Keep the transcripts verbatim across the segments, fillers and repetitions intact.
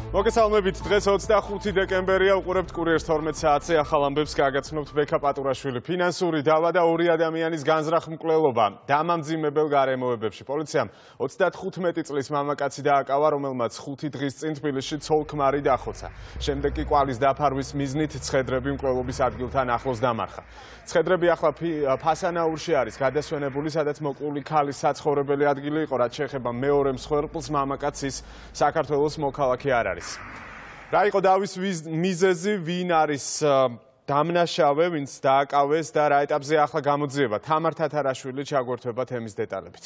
მოგესალმებით, დღეს ოცდახუთი დეკემბერია, უყურებთ კურიერს თორმეტ საათზე, ახალ ამბებს გაგაცნობთ ბექა პატურაშვილი. ფინანსური დავა და ორი ადამიანის განზრახ-მკვლელობა დამამძიმებელ გარემოებებში. პოლიციამ ოცდათხუთმეტი წლის მამაკაცი დააკავა, რომელმაც ხუთი დღის წინ თბილისში ცოლ-ქმარი დახოცა. შემდეგ კი კვალის დაფარვის მიზნით ცხედრები მკვლელობის ადგილთან ახლოს დამარხა. ცხედრები ახლა ფასანაურში არის გადასვენებული, სადაც მოკლული ქალის საცხოვრებელი ადგილი იყო, რაც შეეხება მეორე მსხვერპლს, მამაკაცის საქართველოს მოქალაქე არ არის. რა იყო დავის მიზეზი, ვინ არის დამნაშავე, ვინც დააკავეს და რა ეტაპზე ახლა გამოძიება. თამარ თათარაშვილი ჩაგვერთვება თემის დეტალებით.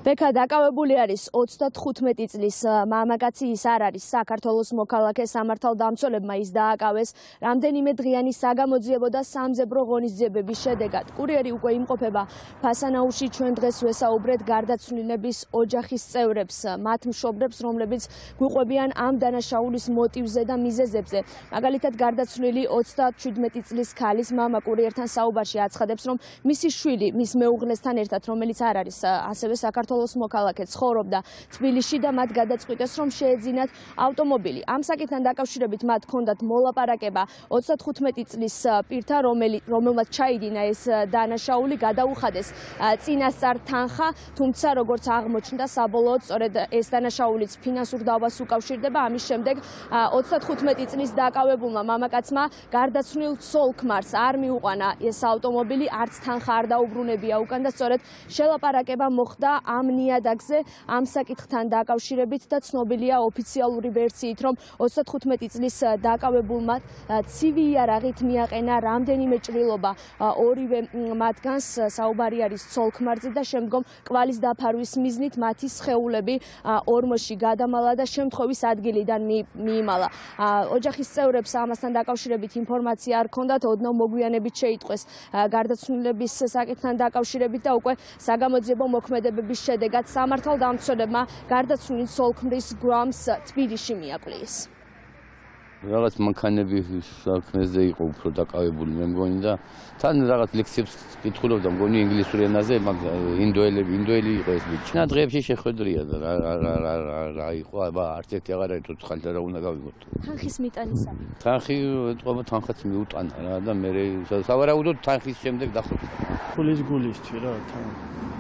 ბექა დაკავებული არის ოცდათხუთმეტი წლის მამაკაცი, ის არ არის საქართველოს მოქალაქე. სამართალდამცველებმა ის დააკავეს რამდენიმე დღიანი საგამოძიებო და სამძებრო ღონისძიებების შედეგად. კურიერი უკვე იმყოფება ფასანაურში. ჩვენ დღეს ვესაუბრეთ გარდაცვლილების ოჯახის წევრებს, მათ მშობლებს, რომლებიც გვიყვებიან ამ დანაშაულის მოტივზე და მიზეზებზე. მაგალითად, გარდაცვლილი ოცდაშვიდმეტი წლის ქალის მამა კურიერთან საუბარში აცხადებს, რომ მისი შვილი მის მეუღლესთან ერთად, რომელიც არ არის ასევე საქართველოს მოქალაქე, ცხოვრობდა თბილისში და მათ გადაწყვიტეს, რომ შეეძინათ ავტომობილი. ამ საკითხთან დაკავშირებით მათ ჰქონდათ მოლაპარაკება ოცდათხუთმეტი წლის პირთა, რომელმაც ჩაიდინა ეს დანაშაული, გადაუხადეს წინასწარ თანხა, თუმცა როგორც აღმოჩნდა, საბოლოოდ სწორედ ეს დანაშაულიც ფინანსურ დავას უკავშირდება. ამის შემდეგ ოცდათხუთმეტი წლის დაკავებულმა მამაკაცმა გარდაცვლილ ცოლ-ქმარს არ მიუყვანა ეს ავტომობილი, არც თანხა არ დაუბრუნებია უკან და სწორედ შელაპარაკება მოხდა ამ ნიადაგზე. ამ საკითხთან დაკავშირებით და ცნობილია ოფიციალური ვერსიით, რომ ოცდათხუთმეტი წლის დაკავებულმა ცივი იარაღით მიაყენა რამდენიმე ჭრილობა ორივე მათგანს. საუბარი არის ცოლ-ქმარზე და შემდგომ კვალის დაფარვის მიზნით მათი სხეულები ორმოში გადამალა და შემთხვევის ადგილიდან მიიმალა. ოჯახის წევრებს ამასთან დაკავშირებით ინფორმაცია არ ჰქონდათ, ოდნავ მოგვიანებით შეიტყვეს გარდაცვლილების საკითხთან დაკავშირებით და უკვე საგამოძიებო მოქმედებების შედეგად სამართალდამცველებმა გარდაცვლილი ცოლ-ქმრის გვამს თბილისში მიაკლიეს. რაღაც მანქანები საქმეზე იყო უფრო დაკავებული მე მგონი და თან რაღაც ლექციებს კითხულობდა მგონი ინგლისურ ენაზე, მაგრამ ინდოელები, ინდოელი იყო ეს ბიჭი. და დღეებში შეხვედრია და რა რა რა რა იყო, აბა არც ერთი აღარ არის თუ ხალხი რა უნდა გავიგოთ. თანხის მიტანისა. თანხი ეთქობა თანხაც მიუტანა რა და მე სავარაუდოდ თანხის შემდეგ დახოცა. ფულის გულისთვის რა თან.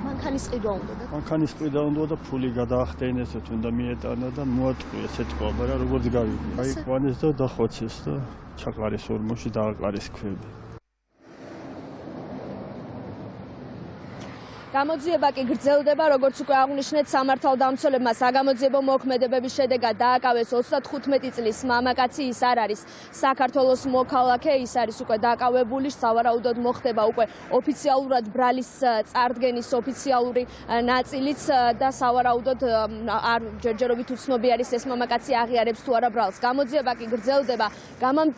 მანქანის ყიდვა უნდა და მანქანის ყიდვა უნდა და ფული გადაახდენეს, თუნდა მიეტანა და მოატყუეს ეთქვა, მაგრამ როგორც გავიგე. აი ყვანეს და დახოცეს და ჩაყარეს ორმოში დააყარეს ქვები. გამოძიება კი გრძელდება, როგორც უკვე აღვნიშნეთ, სამართალდამცველებმა საგამოძიებო მოქმედებების შედეგად დააკავეს ოცდათხუთმეტი წლის მამაკაცი, ის არ არის საქართველოს მოქალაქე, ის არის უკვე დაკავებული, სავარაუდოდ მოხდება უკვე ოფიციალურად ბრალის წარდგენის ოფიციალური ნაწილიც და სავარაუდოდ არ ჯერჯერობით უცნობი არის ეს მამაკაცი აღიარებს თუ არა ბრალს. გამოძიება კი გრძელდება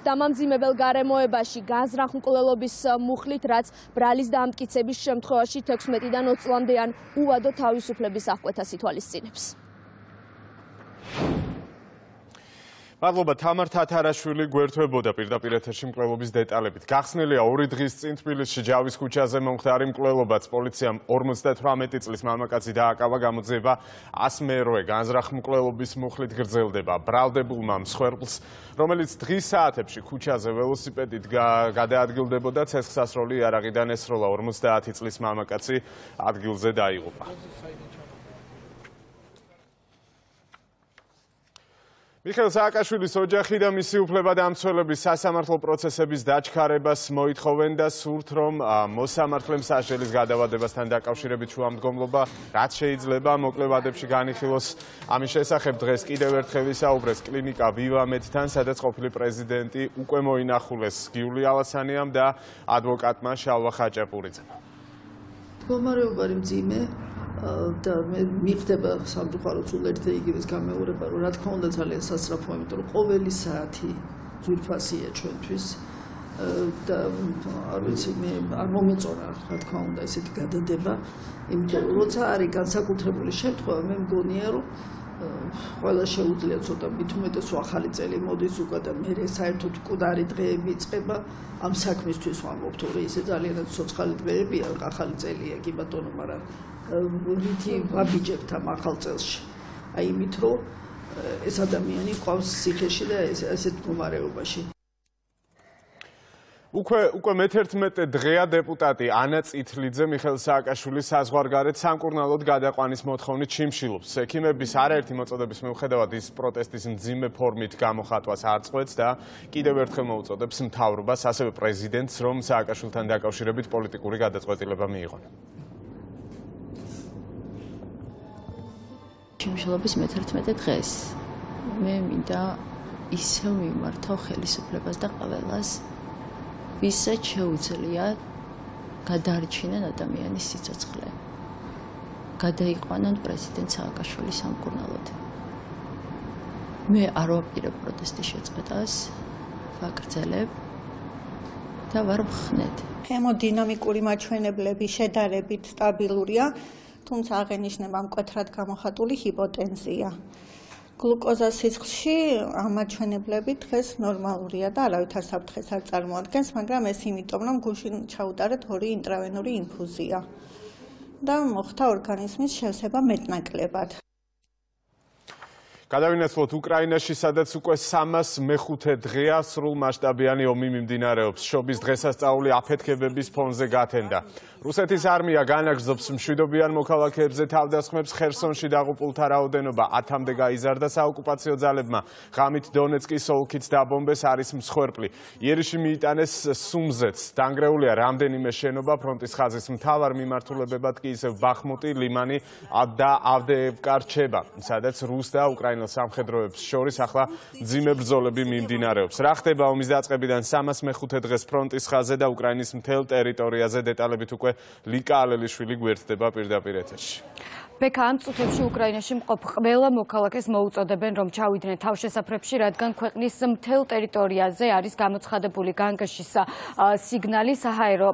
დამამძიმებელ გარემოებაში განზრახ-მკვლელობის მუხლით, რაც ბრალის დამტკიცების შემთხვევაში თექვსმეტიდან ოცი წლამდე ან უვადო თავისუფლების აღკვეთას ითვალისწინებს. მადლობა, თამარ თათარაშვილი გვერდთვებოდა პირდაპირ ეთერში მკვლელობის დეტალებით. გახსნილია ორი დღის წინ თბილისში ჯავის ქუჩაზე მომხდარი მკვლელობაც. პოლიციამ ორმოცდათვრამეტი წლის მამაკაცი დააკავა, გამოძიება ასმეროე განზრახ მკვლელობის მუხლით გრძელდება. ბრალდებულმა მსხვერპლს, რომელიც დღის საათებში ქუჩაზე ველოსიპედით გადაადგილდებოდა, ცეცხლსასროლი იარაღიდან ესროლა. ორმოცდაათი წლის მამაკაცი ადგილზე დაიღუპა. მიხეილ სააკაშვილის ოჯახი და მისი უფლებადამცველები სასამართლო პროცესების დაჩქარებას მოითხოვენ და სურთ, რომ მოსამართლემ სასჯელის გადავადებასთან დაკავშირებით შუამდგომლობა რაც შეიძლება მოკლე ვადებში განიხილოს. ამის შესახებ დღეს კიდევ ერთხელ ისაუბრეს კლინიკა ვივამედთან, სადაც ყოფილი პრეზიდენტი უკვე მოინახულეს გიული ალასანიამ და ადვოკატმა შალვა ხაჭაპურიძემ. მდგომარეობა მძიმე და მიხდება სამწუხაროდ სულ ერთ იგივეს გამეორება, რომ რა თქმა უნდა ძალიან სასწრაფოა, იმიტომ რომ ყოველი საათი ძვირფასია ჩვენთვის და არ ვიცი მე არ მომეწონა რა თქმა უნდა ესეთი გადადება, იმიტომ რომ როცა არის განსაკუთრებული შემთხვევა, მე მგონია რომ ყველა შეუძლია ცოტა მით უმეტეს ახალი წელი მოდის უკვე და მე საერთოდ მკვდარი დღეები იწყება ამ საქმისთვის ვამბობ, თორე ისე ძალიანაც ცოცხალი დღეებია, ახალი წელია კი ბატონო, მაგრამ რითი ვაბიჯებთ ამ ახალ წელში. აი იმით რომ ეს ადამიანი ყავს ციხეში და ასეთ მდგომარეობაში. უკვე უკვე მეთერთმეტე დღეა დეპუტატი ანა წითლიძე მიხეილ სააკაშვილის საზღვარგარეთ სამკურნალოდ გადაყვანის მოთხოვნით ჩიმშილობს. ექიმების არაერთი მოწოდების მიუხედავად ის პროტესტის მძიმე ფორმით გამოხატვას არ წყვეტს და კიდევ ერთხელ მოუწოდებს მთავრობას, ასევე პრეზიდენტს, რომ სააკაშვილთან დაკავშირებით პოლიტიკური გადაწყვეტილება მიიღონ. ჩიმშილობის მეთერთმეტე დღეს მე მინდა ისევ მიმართავ ხელისუფლებას და ყველას, ვისაც შეუძლია გადაარჩინონ ადამიანის სიცოცხლე. გადაიყვანონ პრეზიდენტ სააკაშვილის სამკურნალოდ. მე არ ვაპირებ პროტესტის შეწყვეტას, ვაგრძელებ და ვარ მხნედ. ჰემოდინამიკური მაჩვენებლები შედარებით სტაბილურია, თუმცა აღენიშნება მკვეთრად გამოხატული ჰიპოტენზია. გლუკოზას სიცხლში ამაჩვენებლები დღეს ნორმალურია და არავითარ საფრთხეს არ წარმოადგენს, მაგრამ ეს იმიტომ, რომ გულში ჩაუტარეთ ორი ინტრავენური ინფუზია და მოხდა ორგანიზმის შევსება მეტნაკლებად. გადავინაცვლოთ უკრაინაში, სადაც უკვე სამას მეხუთე დღეა სრულმასშტაბიანი ომი მიმდინარეობს. შობის დღესასწაული აფეთქებების ფონზე გათენდა. რუსეთის არმია განაგრძობს მშვიდობიან მოქალაქეებზე თავდასხმებს. ხერსონში დაღუპულთა რაოდენობა ათამდე გაიზარდა. საოკუპაციო ძალებმა ღამით დონეცკის ოლქიც დაბომბეს, არის მსხვერპლი. იერიში მიიტანეს სუმზეც. დანგრეულია რამდენიმე შენობა. ფრონტის ხაზის მთავარ მიმართულებებად კი ისევ ბახმუტი, ლიმანი და ავდეევკა რჩება, სადაც რუს და უკრაინელ სამხედროებს შორის ახლა მძიმე ბრძოლები მიმდინარეობს. რა ხდება ომის დაწყებიდან სამას მეხუთე დღეს ფრონტის ხაზზე და უკრაინის მთელ ტერიტორიაზე, დეტალებით უკვე ლიკა ალელიშვილი გვერდდება პირდაპირ ეთერში. ბექა ამ წუთებში უკრაინაში მყოფ ყველა მოქალაქეს მოუწოდებენ, რომ ჩავიდნენ თავშესაფრებში, რადგან ქვეყნის მთელ ტერიტორიაზე არის გამოცხადებული განგაშის სიგნალი. საჰაერო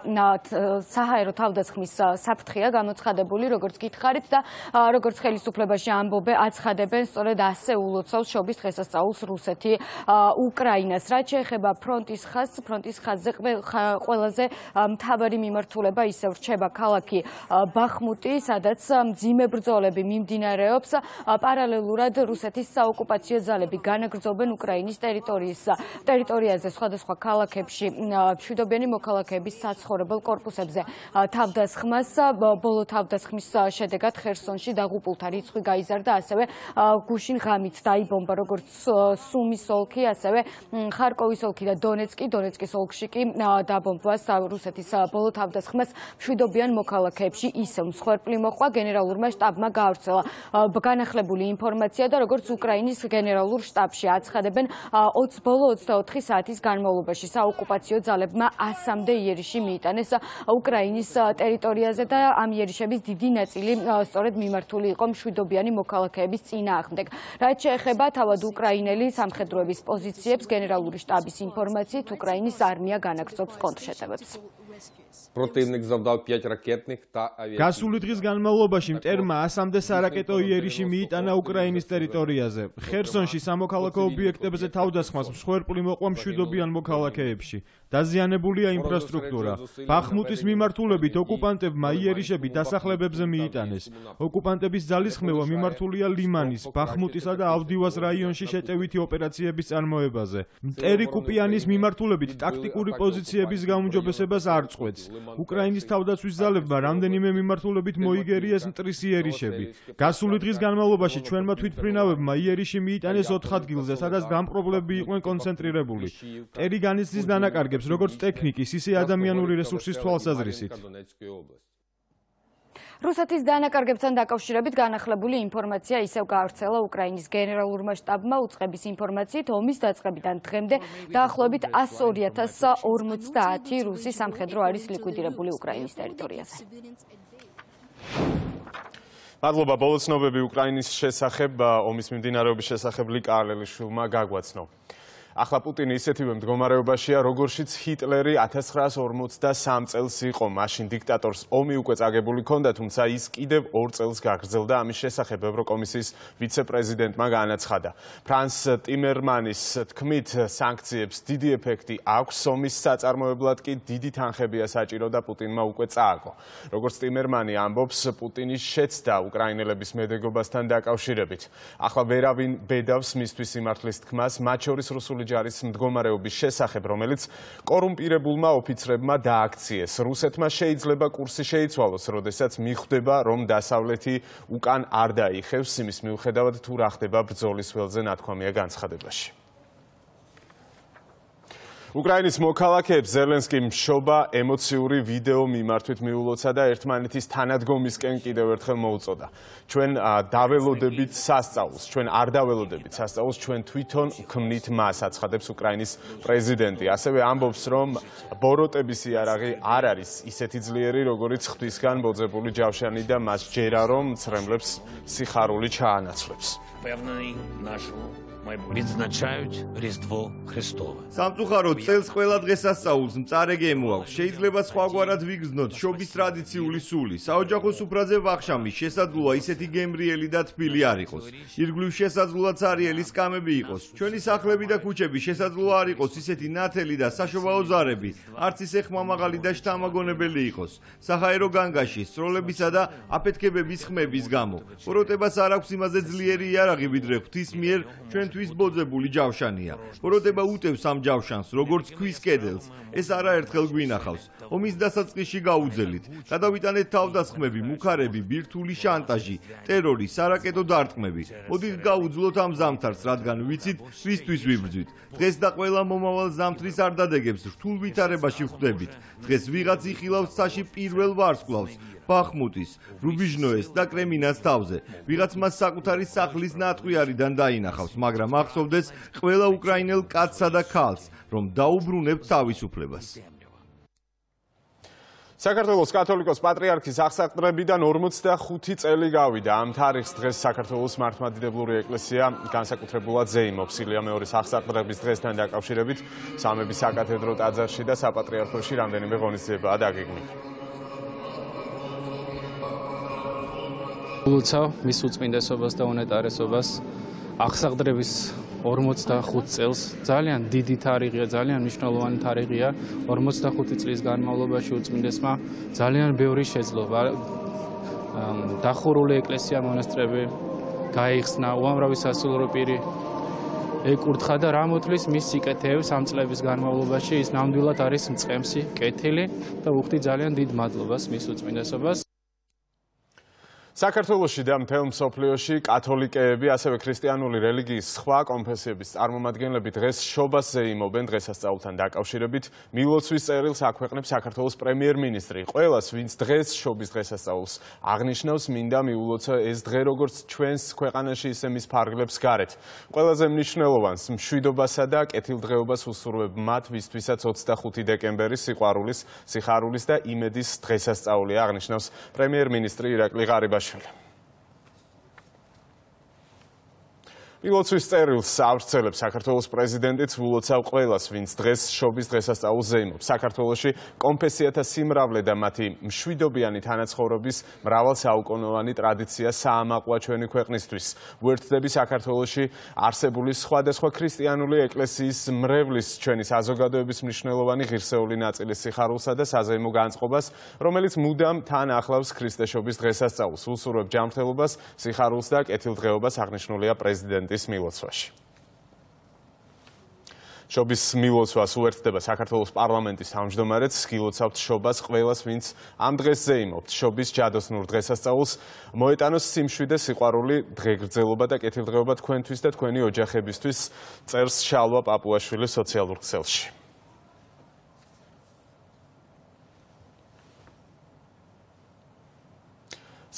საჰაერო თავდასხმის საფრთხეა გამოცხადებული, როგორც გითხარით და როგორც ხელისუფლებაში ამბობენ, აცხადებენ, სწორედ ასე ულოცავს შობის დღესასწაულს რუსეთი უკრაინას. რაც შეეხება ფრონტის ხაზს, ფრონტის ხაზზე ყველაზე მთავარი მიმართულება ისევ რჩება ქალაქი ბახმუტი, სადაც მძიმე ბრძოლები მიმდინარეობს. პარალელურად რუსეთის საოკუპაციო ძალები განაგრძობენ უკრაინის ტერიტორიის ტერიტორიაზე სხვადასხვა ქალაქებში მშვიდობიანი მოქალაქეების საცხოვრებელ კორპუსებზე თავდასხმას. ბოლო თავდასხმის შედეგად ხერსონში დაღუპულთა რიცხვი გაიზარდა, ასევე გუშინ ღამით დაიბომბა როგორც სუმის ოლქი, ასევე ხარკოვის ოლქი და დონეცკი. დონეცკის ოლქში კი დაბომბვას რუსეთის ბოლო თავდასხმას მშვიდობიან მოქალაქეებში ისევ მსხვერპლი მოყვა. გენერალურმა შტაბმა გაავრცელა განახლებული ინფორმაცია და როგორც უკრაინის გენერალურ შტაბში აცხადებენ, ბოლო ოცდაოთხი საათის განმავლობაში საოკუპაციო ძალებმა ასამდე იერიში მიიტანეს უკრაინის ტერიტორიაზე და ამ იერიშების დიდი ნაწილი სწორედ მიმართული იყო მშვიდობიანი მოქალაქეების წინააღმდეგ. რაც შეეხება თავად უკრაინელი სამხედროების პოზიციებს, გენერალური შტაბის ინფორმაციით, უკრაინის არმია განაგრძობს კონტრშეტევებს. Противник завдав п'ять ракетних та авіаційних. გასული დღის განმავლობაში მტერმა ასამდე სარაკეტო იერიში მიიტანა უკრაინის ტერიტორიაზე. ხერსონში სამოქალაქო ობიექტებზე თავდასხმას მსხვერპლი მოყვა მშვიდობიან მოქალაქეებში. დაზიანებულია ინფრასტრუქტურა. ბახმუტის მიმართულებით ოკუპანტებმა იერიშები დასახლებებზე მიიტანეს. ოკუპანტების ძალისხმევა მიმართულია ლიმანის, ბახმუტისა და ავდივას რაიონში შეტევითი ოპერაციების წარმოებაზე. მტერი კუპიანის მიმართულებით ტაქტიკური პოზიციების გაუმჯობესებას არ წყვეტს. უკრაინის თავდაცვის ძალებმა რამდენიმე მიმართულებით მოიგერიეს მტრის იერიშები. გასული დღის განმავლობაში ჩვენმა თვითმფრინავებმა იერიში მიიტანეს ოთხ ადგილზე, სადაც დამპყრობლები იყვნენ კონცენტრირებული. მტერი განიცდის დანაკარგებს როგორც ტექნიკის, ისე ადამიანური რესურსის თვალსაზრისით. რუსეთის დანაკარგებთან დაკავშირებით განახლებული ინფორმაცია ისევ გაავრცელა უკრაინის გენერალურმა შტაბმა. უწყების ინფორმაციით, ომის დაწყებიდან დღემდე დაახლოებით ასი ორი ათას ორმოცდაათი რუსი სამხედრო არის ლიკვიდირებული უკრაინის ტერიტორიაზე. მადლობა, ბოლო ცნობები უკრაინის შესახებ, ომის მიმდინარეობის შესახებ ლიკა ალელიშვილმა გაგვაცნო. ახლა პუტინი ისეთივე მდგომარეობაშია, როგორშიც ჰიტლერი ათას ცხრაას ორმოცდასამ წელს იყო. მაშინ დიქტატორს ომი უკვე წაგებული ჰქონდა, თუმცა ის კიდევ ორ წელს გაგრძელდა. ამის შესახებ ევროკომისიის ვიცე-პრეზიდენტმა განაცხადა. ფრანს ტიმერმანის თქმით, სანქციებს დიდი ეფექტი აქვს, ომის საწარმოებლად კი დიდი თანხებია საჭირო და პუტინმა უკვე წააგო. როგორც ტიმერმანი ამბობს, პუტინი შეცდა უკრაინელების მედეგობასთან დაკავშირებით. ახლა ვერავინ ბედავს მისთვის სიმართლის თქმას, მათ შორის რუსული ჯარის მდგომარეობის შესახებ, რომელიც კორუმპირებულმა ოფიცრებმა დააქციეს. რუსეთმა შეიძლება კურსი შეიცვალოს, როდესაც მიხვდება, რომ დასავლეთი უკან არ დაიხევს, იმის მიუხედავად თუ რა ხდება ბრძოლის ველზე ნათქვამია განცხადებაში. უკრაინის მოქალაქეებს ზელენსკიმ მშობა ემოციური ვიდეო მიმართვით მიულოცა და ერთმანეთის თანადგომისკენ კიდევ ერთხელ მოუწოდა. ჩვენ დაველოდებით სასწაულს, ჩვენ არ დაველოდებით სასწაულს, ჩვენ თვითონ ვქმნით მას, აცხადებს უკრაინის პრეზიდენტი. ასევე ამბობს, რომ ბოროტების იარაღი არ არის ისეთი ძლიერი, როგორიც ღვთისგან მოძებული ჯავშანი და მას ჯერა, რომ მცრემლებს სიხარული ჩაანაცვლებს. Відзначають Різдво Христове. სამწუხაროდ წელს ყველა დღესასწაულს მწარე გემო აქვს. შეიძლება სხვაგვარად ვიგრძნოთ შობის ტრადიციული სული. საოჯახო სუფრაზე ვახშამი შესაძლოა ისეთი გემრიელი და თბილი არ იყოს. ირგვლივ შესაძლოა ცარიელი სკამები იყოს. ჩვენი სახლები და ქუჩები შესაძლოა არ იყოს ისეთი ნათელი და საშობაო ზარები, არც ისე ხმამაღალი და შთამაგონებელი იყოს. საჰაერო განგაში სროლებისა და აფეთქებების ხმების გამო. ბოროტებას არ აქვს იმაზე ძლიერი იარაღი, ვიდრე ღვთის მიერ ჩვენ თვის ბოძებული ჯავშანია. ბოროტება უტევს ამ ჯავშანს, როგორც ქვის კედელს. ეს არაერთხელ გვინახავს. ომის დასაწყისში გაუძელით. გადავიტანეთ თავდასხმები, მუქარები, ბირთვული შანტაჟი, ტერორი, სარაკეტო დარტყმები. მოდით გაუძლოთ ამ ზამთარს, რადგან ვიცით, რისთვის ვიბრძვით. დღეს და ყველა მომავალ ზამთრის არ დადეგებს რთულ ვითარებაში ვხვდებით. დღეს ვიღაც იხილავს ცაში პირველ ვარსკვლავს. ბახმუტის, რუბიჟნოეს და კრემინას თავზე. ვიღაც მას საკუთარი სახლის ნატყვიარიდან დაინახავს, მაგრამ ახსოვდეს ყველა უკრაინელ კაცსა და ქალს, რომ დაუბრუნებთ თავისუფლებას. საქართველოს კათოლიკოს პატრიარქის აღსაყდრებიდან ორმოცდახუთი წელი გავიდა. ამ თარიღს დღეს საქართველოს მართლმადიდებლური ეკლესია განსაკუთრებულად ზეიმობს. ილია მეორის აღსაყდრების დღესთან დაკავშირებით სამების საკათედრო ტაძარში და საპატრიარქოში რამდენიმე ღონისძიებაა დაგეგმილი. ულოცავ მის უწმინდესობას და უნეტარესობას აღსაყდრების ორმოცდახუთ წელს. ძალიან დიდი თარიღია, ძალიან მნიშვნელოვანი თარიღია. ორმოცდახუთი წლის განმავლობაში უწმინდესმა ძალიან ბევრი შეძლო. დახურული ეკლესია, მონასტრები გაიხსნა, უამრავი სასულიერო პირი ეკურთხა და რა მოთვლის მის სიკეთეებს ამ წლების განმავლობაში. ის ნამდვილად არის მწყემსი, კეთილი და ვუხდი ძალიან დიდ მადლობას მის უწმინდესობას. საქართველოში და მთელ მსოფლიოში კათოლიკეები, ასევე ქრისტიანული რელიგიის სხვა კონფესიების წარმომადგენლები დღეს შობას ზეიმობენ. დღესასწაულთან დაკავშირებით მილოცვის წერილს აქვეყნებს საქართველოს პრემიერ-მინისტრი. ყველას, ვინც დღეს შობის დღესასწაულს აღნიშნავს, მინდა მიულოცა ეს დღე როგორც ჩვენს ქვეყანაში, ისე მის ფარგლებს გარეთ. ყველაზე მნიშვნელოვანს მშვიდობასა და კეთილდღეობას უსურვებ მათ, ვისთვისაც ოცდახუთი დეკემბერი სიყვარულის, სიხარულის და იმედის დღესასწაულია, აღნიშნავს პრემიერ-მინისტრი ირაკლი ღარიბაშვილი. მილოცვის წერილს ავრცელებს საქართველოს პრეზიდენტიც, ვულოცავ ყველას, ვინც დღეს შობის დღესასწაულს ზეიმობს. საქართველოში კონფესიათა სიმრავლე და მათი მშვიდობიანი თანაცხოვრების მრავალსაუკუნოვანი ტრადიცია საამაყოა ჩვენი ქვეყნისთვის. უერთდები საქართველოში არსებული სხვადასხვა ქრისტიანული ეკლესიის მრევლის ჩვენი საზოგადოების მნიშვნელოვანი ღირსეული ნაწილის სიხარულსა და საზეიმო განწყობას, რომელიც მუდამ თან ახლავს ქრისტეშობის დღესასწაულს. უსურვებ ჯანმრთელობას, სიხარულს და კეთილდღეობას, აღნიშნულია პრეზიდენტ მილოცვაში. შობის მილოცვას უერთდება საქართველოს პარლამენტის თავმჯდომარეც, გილოცავთ შობას ყველას, ვინც ამ დღეს ზეიმობთ. შობის ჯადოსნურ დღესასწაულს მოეტანოს სიმშვიდე, სიყვარული, დღეგრძელობა და კეთილდღეობა თქვენთვის და თქვენი ოჯახებისთვის, წერს შალვა პაპუაშვილი სოციალურ ქსელში.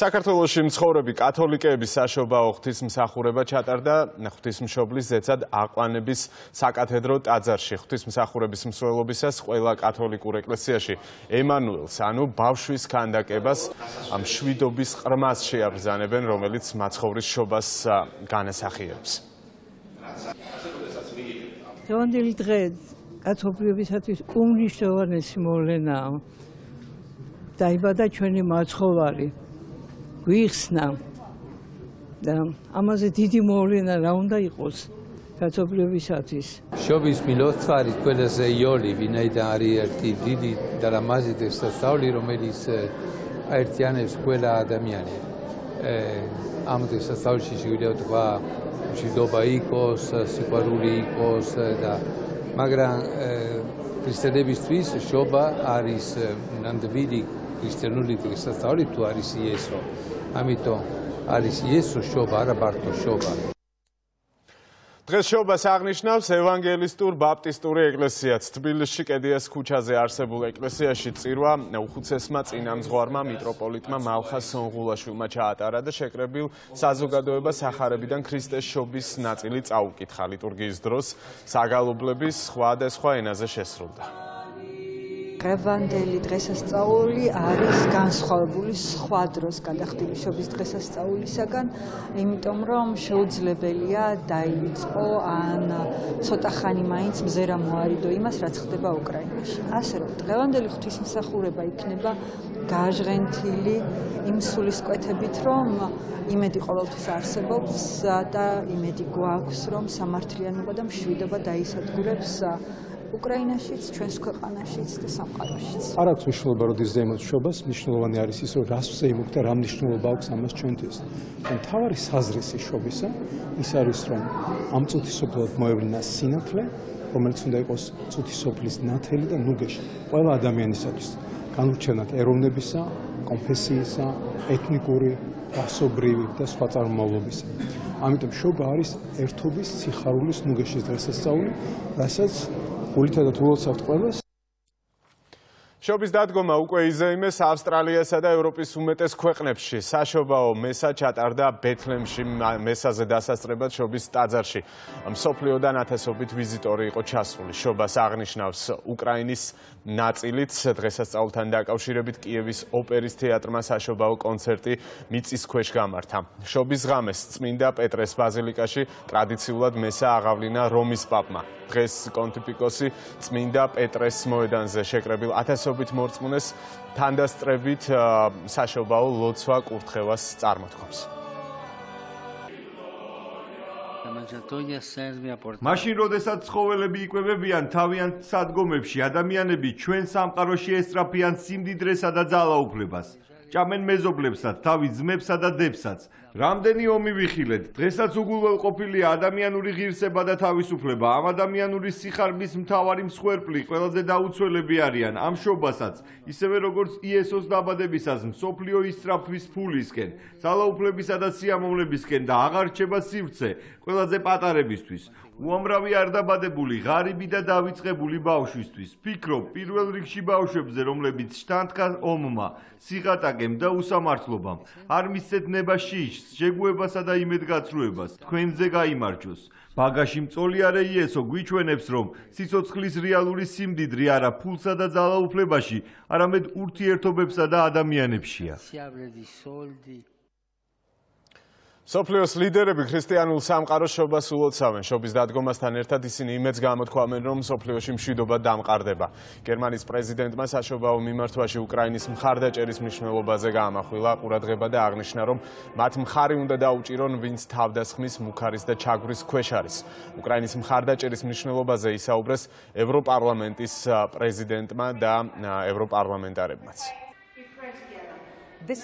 საქართველოში მცხოვრები კათოლიკეები საშობაო ღვთისმსახურება ჩატარდა ღვთისმშობლის ზეცად აყვანების საკათედრო ტაძარში. ღვთისმსახურების მსვლელობისას ყველა კათოლიკურ ეკლესიაში ემანუელს, ანუ ბავშვის ქანდაკებას, მშვიდობის ყრმას შეაბრძანებენ, რომელიც მაცხოვრის შობას განასახიერებს. დღევანდელი დღე კაცობრიობისათვის უმნიშვნელოვანესი მოვლენაა. დაიბადა ჩვენი მაცხოვარი, გვიხსნა და ამაზე დიდი მოვლენა რა უნდა იყოს კაცობრიობისათვის. შობის მილოცვარი ყველაზე იოლი, ვინაიდან არის ერთი დიდი და ლამაზი დღესასწაული, რომელიც აერთიანებს ყველა ადამიანს. ამ დღესასწაულში შეგვიძლია თქვა, მშვიდობა იყოს, სიყვარული იყოს და მაგრამ ქრისტიანებისთვის შობა არის ნამდვილი ქრისტიანული დღესასწაული თუ არის იესო. ამიტომ არის იესო შობა, არა მარტო შობა. დღეს შობას აღნიშნავს ევანგელისტურ ბაპტისტური ეკლესიაც. თბილისში კედიას ქუჩაზე არსებულ ეკლესიაში წირვა უხუცესმა წინამძღვარმა მიტროპოლიტმა მალხას სონღულაშვილმა ჩაატარა და შეკრებილ საზოგადოებას სახარებიდან ქრისტეს შობის ნაწილი წაუკითხა. ლიტურგიის დროს საგალობლების სხვადასხვა ენაზე შესრულდა. დღევანდელი დღესასწაული არის განსხვავებული სხვა დროს გადახდილი შობის დღესასწაულისაგან, იმიტომ რომ შეუძლებელია დაიწყო ან ცოტა ხანი მაინც მზერა მოარიდო იმას, რაც ხდება უკრაინაში. ასე რომ დღევანდელი ღვთისმსახურება იქნება გაჟღენთილი იმ სულისკვეთებით, რომ იმედი ყოველთვის არსებობს და იმედი გვაქვს, რომ სამართლიანობა და მშვიდობა დაისადგურებს უკრაინაშიც, ჩვენს ქვეყანაშიც და სამყაროშიც. არ აქვს მნიშვნელობა, როდის ზეიმოთ შობას, მნიშვნელოვანი არის ის, რომ რას ვზეიმობ და რა მნიშვნელობა აქვს ამას ჩვენთვის. და მთავარი საზრისი შობისა ის არის, რომ ამ წუთისოფლად მოევლინა სინათლე, რომელიც უნდა იყოს წუთისოფლის ნათელი და ნუგეში ყველა ადამიანისათვის, განურჩევნად ეროვნებისა, კონფესიისა, ეთნიკური, რასობრივი და სხვა წარმომავლობისა. ამიტომ შობა არის ერთობის, სიხარულის, ნუგეშის დღესასწაული, რასაც გულითა და თულოცავთ ყველას. შობის დადგომა უკვე იზეიმეს ავსტრალიასა და ევროპის უმეტეს ქვეყნებში. საშობაო მესა ჩატარდა ბეთლემში მესაზე დასასწრებად შობის ტაძარში. მსოფლიოდან ათასობით ვიზიტორი იყო ჩასული. შობას აღნიშნავს უკრაინის ნაწილით დღესასწაულთან დაკავშირებით კიევის ოპერის თეატრმა საშობაო კონცერტი მიწის ქვეშ გამართა. შობის ღამეს წმინდა პეტრეს ბაზილიკაში ტრადიციულად მესა აღავლინა რომის პაპმა. დღეს კონტიფიკოსი წმინდა პეტრეს მოედანზე შეკრებილ ათასობით მორწმუნეს თანდასწრებით საშობაო ლოცვა კურთხევას წარმოთქვამს. მაშინ, როდესაც ცხოველები იკვებებიან თავიანთ სადგომებში, ადამიანები ჩვენ სამყაროში ესწრაფიან სიმდიდრესა და ძალაუფლებას. ჭამენ მეზობლებსაც, თავის ძმებსა და დებსაც. რამდენი ომი ვიხილეთ, დღესაც უგულველყოფილია ადამიანური ღირსება და თავისუფლება. ამ ადამიანური სიხარბის მთავარი მსხვერპლი ყველაზე დაუცველები არიან ამ შობასაც, ისევე როგორც იესოს დაბადებისას მსოფლიო ისწრაფვის ფულისკენ, ძალაუფლებისა და სიამოვნებისკენ და აღარ რჩება სივრცე ყველაზე პატარებისთვის. უამრავი არ დაბადებული, ღარიბი და დავიწყებული ბავშვისთვის. ფიქრობ პირველ რიგში ბავშვებზე, რომლებიც შთანთქა ომმა, სიღატაკემ და უსამართლობამ. არ მისცეთ ნება შიშს, შეგუებასა და იმედგაცრუებას. თქვენზე გაიმარჯოს. ბაგაში მწოლიარე იესო გვიჩვენებს, რომ სიცოცხლის რეალური სიმდიდრე არა ფულსა და ძალაუფლებაში, არამედ ურთიერთობებსა და ადამიანებშია. სოფლიოს ლიდერები ქრისტიანულ სამყაროს შობას ულოცავენ. შობის დადგომასთან ერთად ისინი იმედს გამოთქვამენ, რომ სოფლიოში მშვიდობა დამყარდება. გერმანიის პრეზიდენტმა საშობაო მიმართვაში უკრაინის მხარდაჭერის მნიშვნელობაზე გაამახვილა ყურადღება და აღნიშნა, რომ მათ მხარი უნდა დაუჭირონ, ვინც თავდასხმის, მუქარის და ჩაგვრის ქვეშ არის. უკრაინის მხარდაჭერის მნიშვნელობაზე ისაუბრეს ევროპარლამენტის პრეზიდენტმა და ევროპარლამენტარებმაც. ეს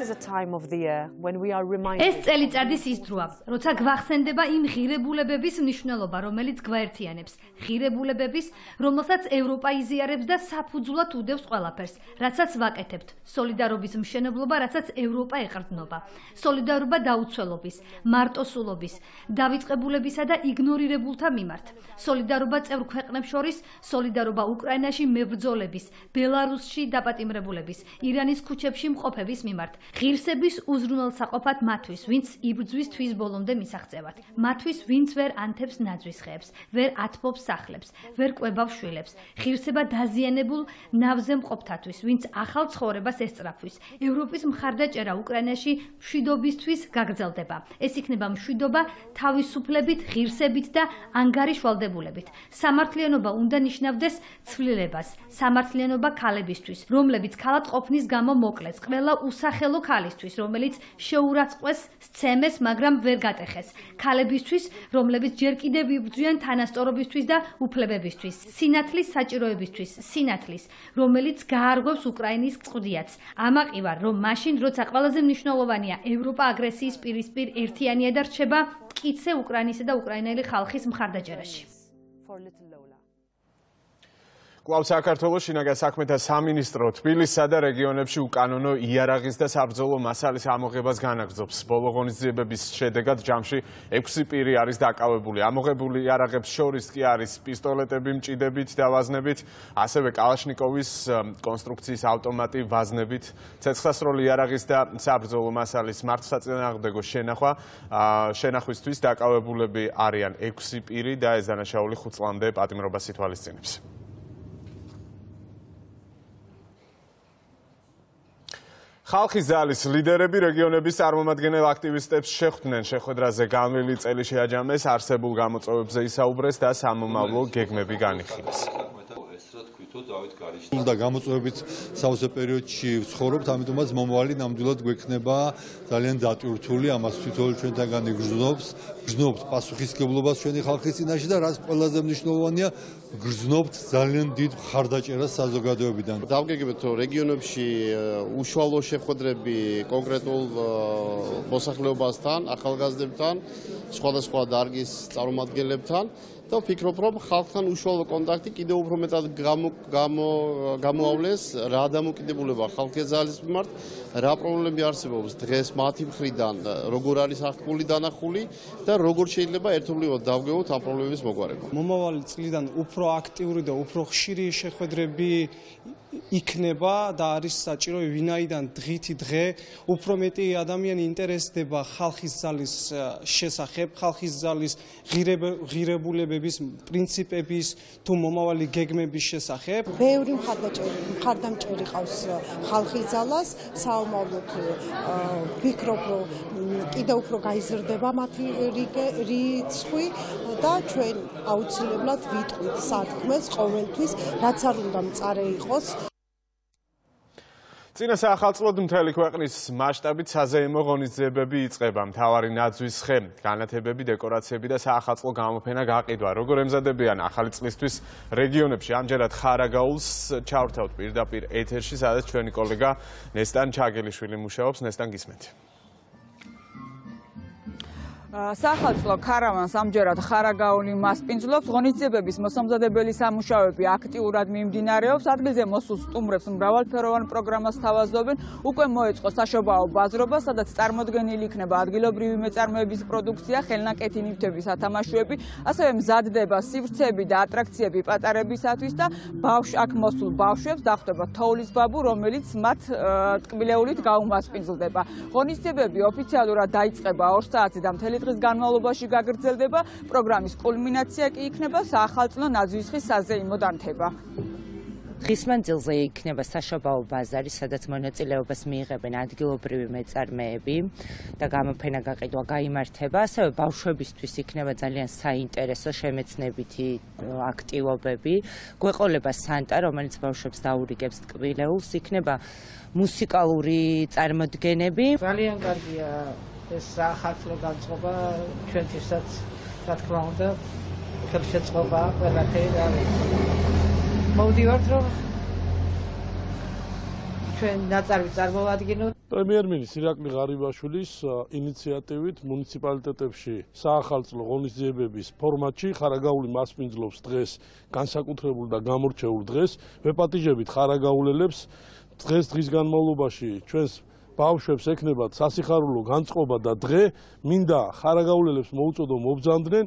წელიწადის ის დროა, როცა გვახსენდება იმ ღირებულებების მნიშვნელობა, რომელიც გვაერთიანებს, ღირებულებების, რომელსაც ევროპა იზიარებს და საფუძვლად უდევს ყველაფერს, რაცაც ვაკეთებთ, სოლიდარობის მშენებლობა, რაცაც ევროპა ეყრდნობა, სოლიდარობა დაუცველობის, მარტოსულობის, დავიწყებულებისა და იგნორირებულთა მიმართ, სოლიდარობა წევრ ქვეყნებს შორის, სოლიდარობა უკრაინაში მებრძოლების, ბელარუსში დაპატიმრებულების, ირანის ქუჩებში მყოფების მიმართ. ვართ. ღირსების უზრუნველსაყოფად მათთვის, ვინც იბრძვის თვის ბოლომდე მისაღწევად. მათთვის, ვინც ვერ ანთებს ნაძვის ხეებს, ვერ ათბობს სახლებს, ვერ კვებავს შვილებს. ღირსება დაზიანებულ ნავზე მყოფთათვის, ვინც ახალ ცხოვრებას ესწრაფვის. ევროპის მხარდაჭერა უკრაინაში მშვიდობისთვის გაგრძელდება. ეს იქნება მშვიდობა თავისუფლებით, ღირსებით და ანგარიშვალდებულებით. სამართლიანობა უნდა ნიშნავდეს ცვლილებას, სამართლიანობა ქალებისთვის, რომლებიც ქალად ყოფნის გამო მოკლეს, ყველა უსახელო ქალისთვის, რომელიც შეურაცხყვეს სცემეს, მაგრამ ვერ გატეხეს, ქალებისთვის, რომლებიც ჯერ კიდევ იბრძვიან თანასწორობისთვის და უფლებებისთვის, სინათლის საჭიროებისთვის, სინათლის, რომელიც გაარღვევს უკრაინის წყუდიაც. ამაყი ვარ, რომ მაშინ, როცა ყველაზე მნიშვნელოვანია ევროპა აგრესიის პირისპირ ერთიანია და რჩება მტკიცე უკრაინისა და უკრაინელი ხალხის მხარდაჭერაში. კვლავ საქართველოს შინაგან საქმეთა სამინისტრო თბილისსა და რეგიონებში უკანონო იარაღის და საბრძოლო მასალის ამოღებას განაგრძობს. ბოლო ღონისძიებების შედეგად ჯამში ექვსი პირი არის დაკავებული. ამოღებული იარაღებს შორის კი არის პისტოლეტები მჭიდებით და ვაზნებით, ასევე კალაშნიკოვის კონსტრუქციის ავტომატი ვაზნებით, ცეცხლსასროლი იარაღის და საბრძოლო მასალის მართლსაწინააღმდეგო შენახვა. შენახვისთვის დაკავებულები არიან ექვსი პირი და ეს დანაშაული ხუთ წლამდე პატიმრობას ითვალისწინებს. ხალხის ძალის ლიდერები რეგიონების წარმომადგენელ აქტივისტებს შეხვდნენ. შეხვედრაზე განვლილი წელი შეაჯამეს, არსებულ გამოწვევებზე ისაუბრეს და სამომავლო გეგმები განიხილეს. და გამოწვევებით სავსე პერიოდში ვცხოვრობთ, ამიტომაც მომავალი ნამდვილად გვექნება ძალიან დატვირთული, ამას თვითონ ჩვენთანგან იგრძნობს, გრძნობთ პასუხისმგებლობას ჩვენი ხალხის წინაშე და რაც ყველაზე მნიშვნელოვანია, გრძნობთ ძალიან დიდ მხარდაჭერას საზოგადოებიდან. დავგეგმეთ, რომ რეგიონებში უშუალო შეხვედრები კონკრეტულ მოსახლეობასთან, ახალგაზრდებთან, სხვადასხვა დარგის წარმომადგენლებთან და ვფიქრობ, რომ ხალხთან უშუალო კონტაქტი კიდევ უფრო მეტად გამოავლეს, რა დამოკიდებულება ხალხის ძალის მიმართ, რა პრობლემები არსებობს დღეს მათი მხრიდან, როგორ არის აღქმული დანახული და როგორ შეიძლება ერთობლივად დავგეგმოთ ამ პრობლემების მოგვარება. მომავალი წლიდან უფრო აქტიური და უფრო ხშირი შეხვედრები იქნება და არის საჭირო, ვინაიდან დღითი დღე უფრო მეტი ადამიანი ინტერესდება ხალხის ძალის შესახებ, ხალხის ძალის ღირებულებების, პრინციპების თუ მომავალი გეგმების შესახებ. ბევრი მხარდამჭერი ყავს ხალხის ძალას, საომავლოდ ვფიქრობ, რომ კიდევ უფრო გაიზრდება მათი რიცხვი და ჩვენ აუცილებლად ვიტყვით სათქმეს ყოველთვის, რაც არ უნდა მწარე იყოს. წინა საახალწლოდ მთელი ქვეყნის მასშტაბით საზეიმო ღონისძიებები იწყება. მთავარი ნაძვის ხე, განათებები, დეკორაციები და საახალწლო გამოფენა გაყიდვა. როგორ ემზადებიან ახალი წლისთვის რეგიონებში? ამჯერად ხარაგაულს ჩავრთავთ პირდაპირ ეთერში, სადაც ჩვენი კოლეგა ნესტან ჩაგელიშვილი მუშაობს. ნესტან, გისმენთ. საახალწლო ქარავანს ამჯერად ხარაგაული მასპინძლობს. ღონისძიებების მოსამზადებელი სამუშაოები აქტიურად მიმდინარეობს. ადგილზე მოსულ სტუმრებს მრავალფეროვან პროგრამას სთავაზობენ. უკვე მოეწყო საშობაო ბაზრობა, სადაც წარმოდგენილი იქნება ადგილობრივი მეწარმეების პროდუქცია, ხელნაკეთი ნივთების ათამაშოები, ასევე მზადდება სივრცეები და ატრაქციები პატარებისათვის და ბავშვ აქ მოსულ ბავშვებს დახვდება თოვლის ბაბუ, რომელიც მათ ტკბილეულით გაუმასპინძლდება. ღონისძიებები ოფიციალურად დაიწყება ორ საათზე და მთელი დღის განმავლობაში გაგრძელდება. პროგრამის კულმინაცია კი იქნება საახალწლო ნაძვის ხის საზეიმო დანთება. დღის მანძილზე იქნება საშობაო ბაზარი, სადაც მონაწილეობას მიიღებენ ადგილობრივი მეწარმეები და გამოფენა გაყიდვა გაიმართება. ასევე ბავშვებისთვის იქნება ძალიან საინტერესო შემეცნებითი აქტივობები. გვეყოლება სანტა, რომელიც ბავშვებს დაურიგებს ტკბილეულს, იქნება მუსიკალური წარმოდგენები. ძალიან კარგია ეს საახალწლო განწყობა ჩვენთვისაც, რა თქმა უნდა, ხელშეწყობა ყველაფერი არის. მოვდივართ, რომ ჩვენ ნაწარმი წარმოვადგინოთ. პრემიერ-მინისტრის ირაკლი ღარიბაშვილის ინიციატივით მუნიციპალიტეტებში საახალწლო ღონისძიებების ფორმატში ხარაგაული მასპინძლობს დღეს განსაკუთრებულ და გამორჩეულ დღეს. ვეპატიჟებით ხარაგაულელებს დღეს დღის განმავლობაში ჩვენს ბავშვებს ექნებათ სასიხარულო განწყობა და დღე მინდა ხარაგაულელებს მოუწოდო მობრძანდნენ.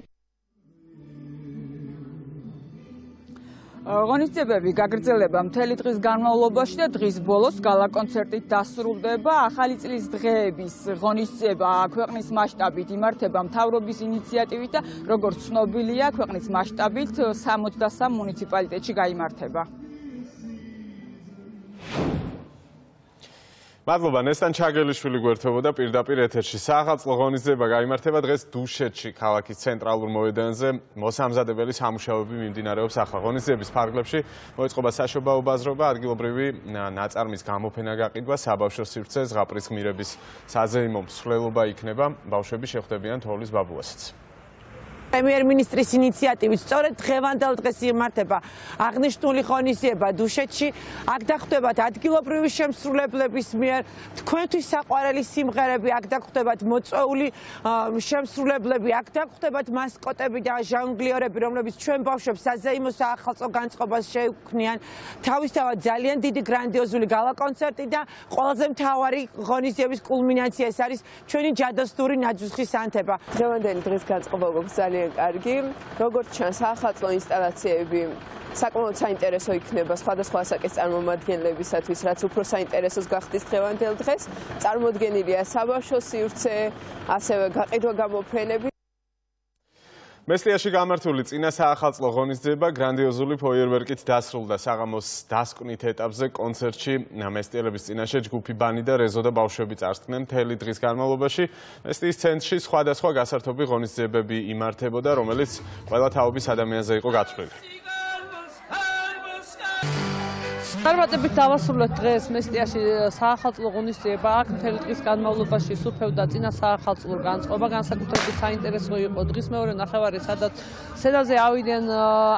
ღონისძიებები გაგრძელება მთელი დღის განმავლობაში და დღის ბოლოს გალა კონცერტით დასრულდება. ახალი წლის დღეების ღონისძიება ქვეყნის მასშტაბით იმართება მთავრობის ინიციატივით და როგორც ცნობილია, ქვეყნის მასშტაბით სამოცდასამ მუნიციპალიტეტში გაიმართება. მადლობა, ნესტან ჩაგელიშვილი გვერდებოდა პირდაპირ ეთერში. საახალწლო ღონისძიება გაიმართება დღეს დუშეთში, ქალაქის ცენტრალურ მოედანზე. მოსამზადებელი სამუშაოები მიმდინარეობს ახლა. ღონისძიების ფარგლებში მოეწყობა საშობაო ბაზრობა, ადგილობრივი ნაწარმის გამოფენა გაყიდვა, საბავშვო სივრცე, ზღაპრის გმირების საზეიმო მსვლელობა იქნება. ბავშვები შეხვდებიან თოვლის ბაბუასაც. პრემიერ-მინისტრის ინიციატივით სწორედ დღევანდელ დღეს იმართება აღნიშნული ღონისძიება დუშეთში. აქ დახვდებათ ადგილობრივი შემსრულებლების მიერ თქვენთვის საყვარელი სიმღერები, აქ დახვდებათ მოწვეული შემსრულებლები, აქ დახვდებათ მასკოტები და ჟონგლიორები, რომლებიც ჩვენ ბავშვებს საზეიმო საახალწლო განწყობას შეუქმნიან. თავისთავად ძალიან დიდი გრანდიოზული გალა კონცერტი და ყველაზე მთავარი ღონისძიების კულმინაცია ეს არის ჩვენი ჯადოსნური ნაძვისხის ანთება. დღევანდელი დღის განწყობა გვაქვს ძალიან კარგი. როგორც ჩანს, საახალწლო ინსტალაციები საკმაოდ საინტერესო იქნება სხვადასხვა ასაკის წარმომადგენლებისათვის, რაც უფრო საინტერესოს გახდის დღევანდელ დღეს. წარმოდგენილია საბავშვო სივრცე, ასევე გაყიდვა გამოფენები. მესტიაში გამართული წინა საახალწლო ღონისძიება გრანდიოზული ფოიერვერკით დასრულდა. საღამოს დასკვნით ეტაპზე კონცერტში მესტიელების წინაშე ჯგუფი ბანი და რეზო და ბავშვები წარსდგნენ მთელი დღის განმავლობაში. მესტიის ცენტრში სხვადასხვა გასართობი ღონისძიებები იმართებოდა, რომელიც ყველა თაობის ადამიანზე იყო გათვლილი. წარმატებით დავასრულეთ დღეს მესტიაში საახალწლო ღონისძიება. აქ მთელი დღის განმავლობაში სუფევდა წინა საახალწლო განწყობა, განსაკუთრებით საინტერესო იყო დღის მეორე ნახევარი, სადაც სცენაზე ავიდნენ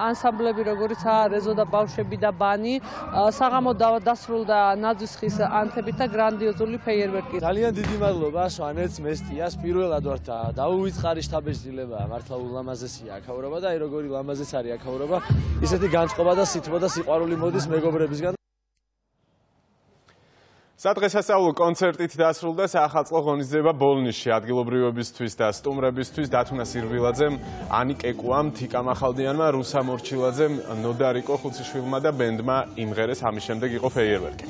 ანსამბლები, როგორიცაა რეზო და ბავშვები და ბანი. საღამო დასრულდა ნაძვისხის ანთებით და გრანდიოზული ფეიერვერკით. ძალიან დიდი მადლობა სვანეთს მესტიას. პირველად ვარ და დაუვიწყარი შთაბეჭდილება, მართლა ულამაზესია აქაურობა და აი როგორი ლამაზეც არის აქაურობა. ისეთი განწყობა და სითბო და სიყვარული მოდის მეგობრებისგან. სადღესასწაულო კონცერტით დასრულდა საახალწლო ღონისძიება ბოლნიში. ადგილობრივებისთვის და სტუმრებისთვის დათუნა სირვილაძემ, ანი კეკუამ, თიკა მახალდიანმა, რუსა მორჩილაძემ, ნოდარიკო ხუციშვილმა და ბენდმა იმღერეს. ამის შემდეგ იყო ფეიერვერკი.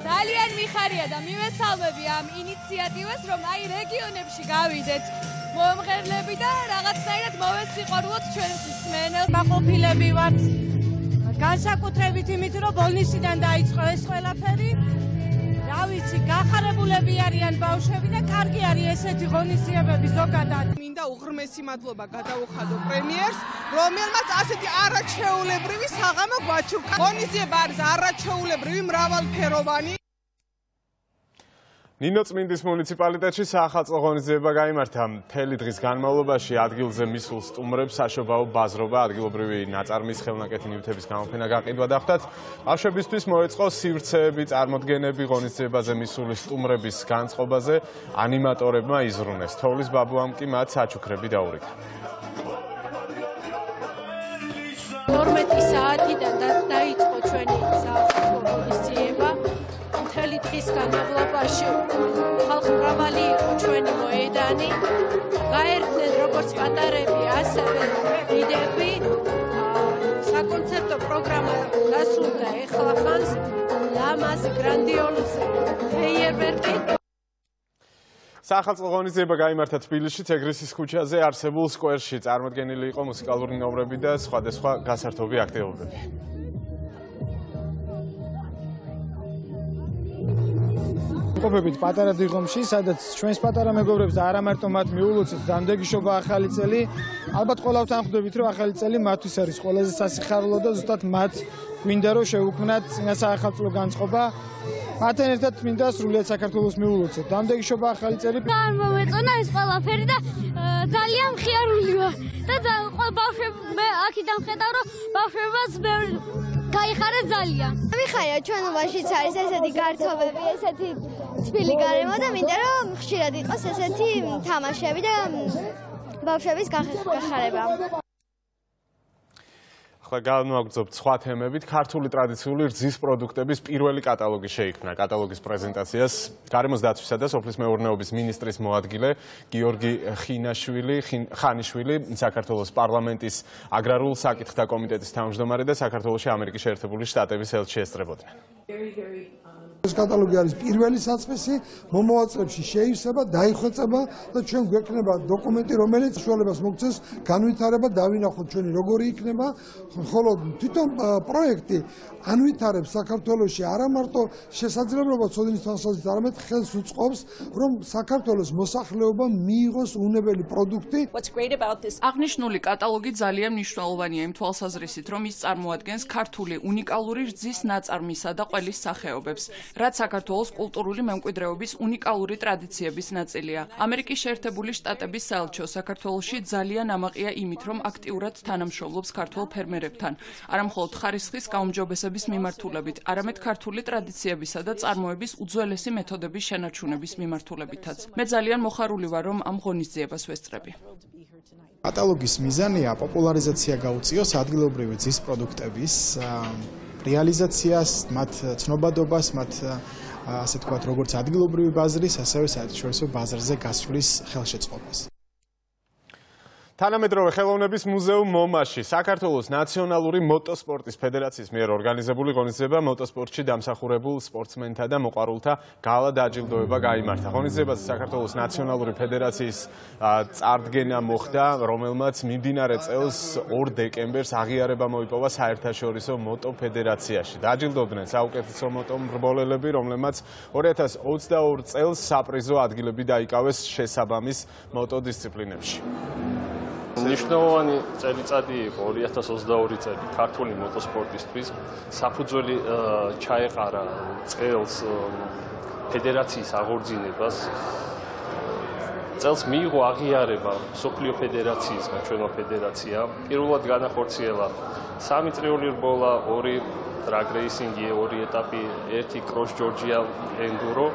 ძალიან მიხარია და მივესალმები ამ ინიციატივას, რომ აი რეგიონებში გავიდეთ მომღერლები და რაღაცნაირად მოვესიყვარულოთ ჩვენს მსმენელს. მაყოფილები ვართ განსაკუთრებით იმით, რომ ბოლნისიდან დაიწყო ეს ყველაფერი. რა ვიცი, გახარებულები არიან ბავშვები და კარგი არის ესეთი ღონისძიებები ზოგადად. მინდა უღრმესი მადლობა გადაუხადო პრემიერს, რომელმაც ასეთი არაჩვეულებრივი საღამო გვაჩუქა. ღონისძიება არის არაჩვეულებრივი, მრავალფეროვანი. ნინოწმინდის მუნიციპალიტეტში საახალწლო ღონისძიება გაიმართა. მთელი დღის განმავლობაში ადგილზე მისულ სტუმრებს საშობაო ბაზრობა, ადგილობრივი ნაწარმის ხელნაკეთი ნივთების გამოფენა გაყიდვა დახვდათ. ბავშვებისთვის მოეწყო სივრცეები, წარმოდგენები ღონისძიებაზე მისული სტუმრების განწყობაზე ანიმატორებმა იზრუნეს. თოვლის ბაბუამ კი მათ საჩუქრები დაურიგა. ორმეტი საათიდან დაიწყო ჩვენი საახალწლო ღონისძიება. მთელი დღის განმავლობაში ხალხი მრავალი იყო ჩვენი მოედანი. გაერთნენ როგორც პატარები, ასევე დიდები. საკონცერტო პროგრამა დასრულდა ეხლა ხანს ლამაზი გრანდიოზული ფეიერვერკი. საახალწლო ღონისძიება გაიმართა თბილისში, ეგრისის ქუჩაზე არსებულ სკვერში. წარმოდგენილი იყო მუსიკალური ნომრები და სხვადასხვა გასართობი აქტივობები. ყოფებით პატარა დიღომში, სადაც ჩვენს პატარა მეგობრებს და არა მარტო მათ მიულოცეთ დამდეგიშობა ახალი წელი. ალბათ ყველავთან ხვდებით, რომ ახალი წელი მათთვის არის ყველაზე სასიხარულო და ზუსტად მათ გვინდა რომ შეუქმნათ წინა საახალწლო განწყობა. მათთან ერთად მინდა სრულიად საქართველოს მიულოცეთ. დამდეგიშობა ახალი წელი. გამომეწონა ეს ყველაფერი და ძალიან მხიარული ვარ. და ბავშვები მე აქედან ხედავ, რომ ბავშვებსაც გაიხარეს ძალიან. მიხარია ჩვენობაშიც არის ესეთი გართობები, ესეთი თბილი გარემო და მინდა რომ ხშირად იყოს ესეთი თამაშები და ბავშვების გახარება. ახლა განვაგრძობთ სხვა თემებით. ქართული ტრადიციული რძის პროდუქტების პირველი კატალოგი შეიქმნა. კატალოგის პრეზენტაციას გარემოს დაცვისა და სოფლის მეურნეობის მინისტრის მოადგილე გიორგი ხინაშვილი, ხანიშვილი, საქართველოს პარლამენტის აგრარულ საკითხთა კომიტეტის თავმჯდომარე და საქართველოში ამერიკის შეერთებული შტატების ელჩი ესწრებოდნენ. ეს კატალოგი არის პირველი საწყისი, მომავალ წლებში შეივსება, დაიხვეწება და ჩვენ გვექნება დოკუმენტი, რომელიც საშუალებას მოგცეს განვითარება, დავინახოთ ჩვენი როგორი იქნება, ხოლო თვითონ პროექტი ანვითარებს საქართველოში არა მარტო შესაძლებლობა ცოდნის თვალსაზრისით, არამედ ხელს უწყობს, რომ საქართველოს მოსახლეობამ მიიღოს უნებელი პროდუქტი. აღნიშნული კატალოგი ძალიან მნიშვნელოვანია იმ თვალსაზრისით, რომ ის წარმოადგენს ქართული უნიკალური რძის ნაწარმისა და ყველის სახეობებს, რაც საქართველოს კულტურული მემკვიდრეობის უნიკალური ტრადიციების ნაწილია. ამერიკის შეერთებული შტატების საელჩო საქართველოში ძალიან ამაყია იმით, რომ აქტიურად თანამშრომლობს ქართულ ფერმერებთან, არამხოლოდ ხარისხის გაუმჯობესების მიმართულებით, არამედ ქართული ტრადიციებისა და წარმოების უძველესი მეთოდების შენარჩუნების მიმართულებითაც. მე ძალიან მოხარული ვარ, რომ ამ ღონისძიებას ვესწრები. კატალოგის მიზანია პოპულარიზაცია გაუწიოს ადგილობრივი რძის პროდუქტების რეალიზაციას, მათ ცნობადობას, მათ ასე თქვათ, როგორც ადგილობრივი ბაზრის, ასევე საერთაშორისო ბაზარზე გასვლის ხელშეწყობას. თანამედროვე ხელოვნების მუზეუმ მომაში საქართველოს ნაციონალური მოტოსპორტის ფედერაციის მიერ ორგანიზებული ღონისძიება მოტოსპორტში დამსახურებულ სპორტსმენთა და მოყვარულთა გალა დაჯილდოება გაიმართა. ღონისძიებაზე საქართველოს ნაციონალური ფედერაციის წარდგენა მოხდა, რომელმაც მიმდინარე წელს ორ დეკემბერს აღიარება მოიპოვა საერთაშორისო მოტო ფედერაციაში. დაჯილდოვდნენ საუკეთესო მოტო მრბოლელები, რომლებმაც ორი ათას ოცდაორ წელს საპრიზო ადგილები დაიკავეს შესაბამის მოტო დისციპლინებში. მნიშვნელოვანი წელიწადი იყო ორი ათას ოცდაორი წელი ქართული მოტოსპორტისთვის. საფუძველი ჩაეყარა წელს ფედერაციის აღორძინებას. წელს მიიღო აღიარება მსოფლიო ფედერაციისგან, ჩვენო ფედერაცია. პირველად განახორციელა სამი წრიული რბოლა, ორი დრაგ რეისინგი, ორი ეტაპი, ერთი კროს ჯორჯია ენდურო.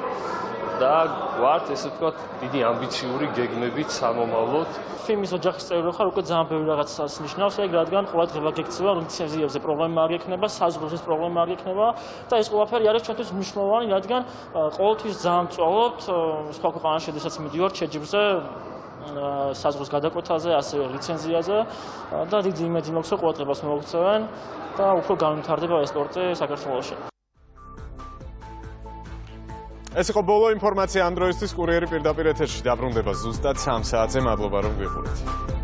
და ვართ ესე ვთქვათ დიდი ამბიციური გეგმებით სამომავლოდ. ფილმის ოჯახის წევრი ხარ, უკვე ძალიან ბევრი რაღაცას ნიშნავს, ეგ რადგან ყურადღება გექცევა, რომ ლიცენზიებზე პრობლემა არ გექნება, საზღვრების პრობლემა არ გექნება და ეს ყველაფერი არის ჩვენთვის მნიშვნელოვანი, რადგან ყოველთვის ძალიან მწვავობთ სხვა ქვეყანაში, შესაძაც მიდივართ შეჯიბრზე საზღვრის გადაკვეთაზე, ასევე ლიცენზიაზე და დიდი იმედი მაქვს, რომ ყურადღებას მოგექცევენ და უფრო განვითარდება ეს სპორტი საქართველოში. ეს იყო ბოლო ინფორმაცია ამ დროისთვის. კურიერი პირდაპირ ეთერში დაბრუნდება ზუსტად სამ საათზე. მადლობა რომ გვიყურეთ.